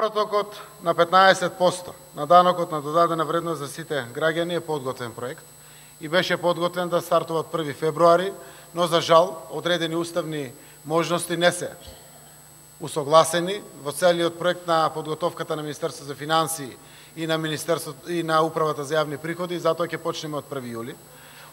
Повратокот на 15% на данокот на додадена вредност за сите граѓани е подготвен проект и беше подготвен да стартува од 1 февруари, но за жал одредени уставни можности не се усогласени во целиот проект на подготовката на Министерството за финансии и на Министерството и на Управата за јавни приходи, затоа ќе почнеме од 1 јули.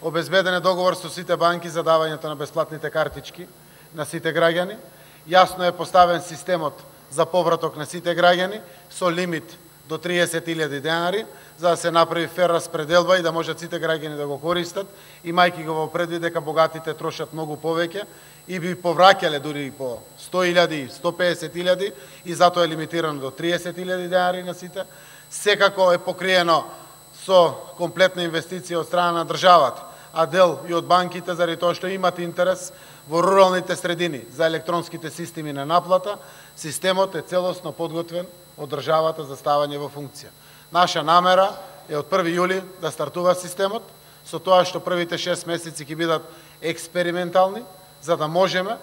Обезбеден е договор со сите банки за давањето на бесплатните картички на сите граѓани. Јасно е поставен системот за повраток на сите граѓани со лимит до 30.000 денари, за да се направи фер распределба и да можат сите граѓани да го користат, имајќи го во предвид дека богатите трошат многу повеќе и би повраќале дури и по 100.000, 150.000 и затоа е лимитирано до 30.000 денари на сите. Секако е покриено со комплетна инвестиција од страна на државата, а дел и од банките, заради тоа што имат интерес во руралните средини за електронските системи на наплата. Системот е целосно подготвен од државата за ставање во функција. Наша намера е од 1 јули да стартува системот, со тоа што првите 6 месеци ќе бидат експериментални, за да можеме,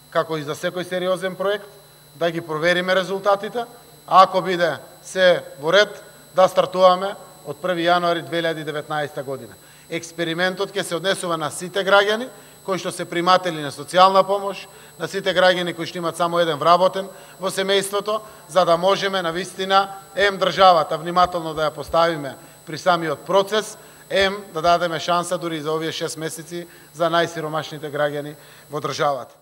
како и за секој сериозен проект, да ги провериме резултатите, а ако биде се во ред, да стартуваме од 1 јануари 2019 година. Експериментот ќе се однесува на сите граѓани кои што се приматели на социјална помош, на сите граѓани кои што имат само еден вработен во семејството, за да можеме навистина државата внимателно да ја поставиме при самиот процес, да дадеме шанса дури и за овие 6 месеци за најсиромашните граѓани во државата.